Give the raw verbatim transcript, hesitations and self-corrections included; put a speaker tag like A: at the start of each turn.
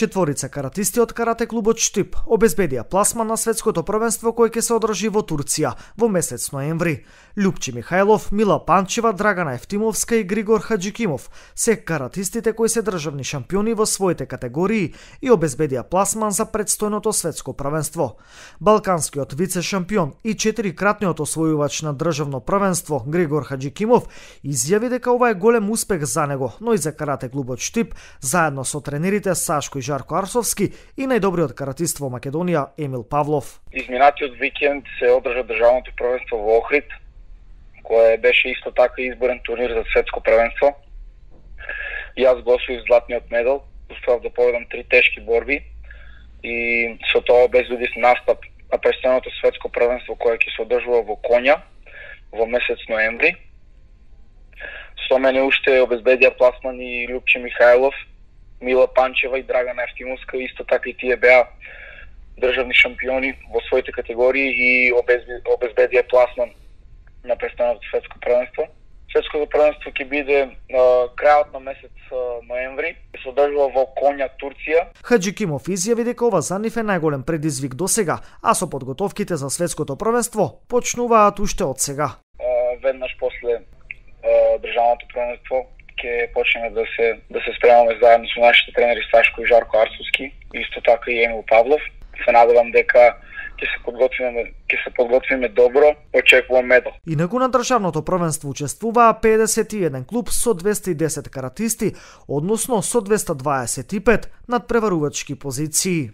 A: Четворица каратисти од карате клубот Штип обезбедија пласман на светското првенство кој ќе се одржи во Турција во месец ноември. Љупчи Михајлов, Мила Панчева, Драгана Ефтимовска и Григор Хаджикимов се каратистите кои се државни шампиони во своите категории и обезбедија пласман за предстојното светско првенство. Балканскиот вице-шампион и четирикратниот освојувач на државно првенство Григор Хаджикимов изјави дека ова е голем успех за него, но и за карате клубот Штип, заедно со тренерите Сашко и Жарко Арсовски и најдобриот каратист во Македонија Емил Павлов.
B: Изминатиот викенд се одржа државното првенство во Охрид, кое беше исто така изборен турнир за светско првенство. Јас го освоив златниот медал, успеав да победам три тешки борби и со тоа обезбедив настап на престојното светско првенство кое ќе се одржува во Конја во месец ноември. Со мене уште обезбедија пласман и Љупчи Михајлов, Мила Панчева и Драгана Ефтимовска, исто така и тие беа државни шампиони во своите категории и обезбедија пласман на престојното светско првенство. Светското првенство ќе биде а, крајот на месец а, ноември, ќе се одржува во Конја, Турција.
A: Хаджикимов изјави дека ова за нив е најголем предизвик досега, а со подготовките за светското првенство почнуваат уште од сега.
B: А, веднаш после а, државното првенство ќе почнеме да се да се спремаме заедно со нашите тренери Сашко и Жарко Арсовски, исто така и Емил Павлов. Се надевам дека ќе се подготвиме, ќе се подготвиме добро, очекувам медал.
A: Инаку на државното првенство учествуваа педесет и еден клуб со двесте и десет каратисти, односно со двесте дваесет и пет надпреварувачки позиции.